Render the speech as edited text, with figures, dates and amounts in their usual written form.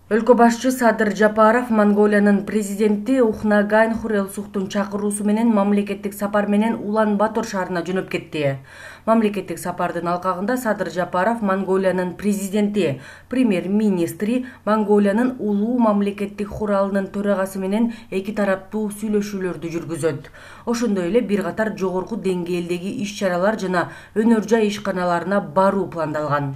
Өлкө башчы Садыр Жапаров Монголиянын президенти Ухнаагийн Хурэлсухтун чакыруусу менен мамлекеттик сапар менен Улан-Батор шаарына жөнөп кетти. Мамлекеттик сапардын алкагында Садыр Жапаров Монголиянын президенти, премьер-министри, Монголиянын улуу мамлекеттик хуралынын төрагасы менен эки тараптуу сүйлөшүүлөрдү жүргүзөт. Ошондой эле бир катар жогорку деңгээлдеги иш-чаралар жана өнөр жай ишканаларына баруу пландалган.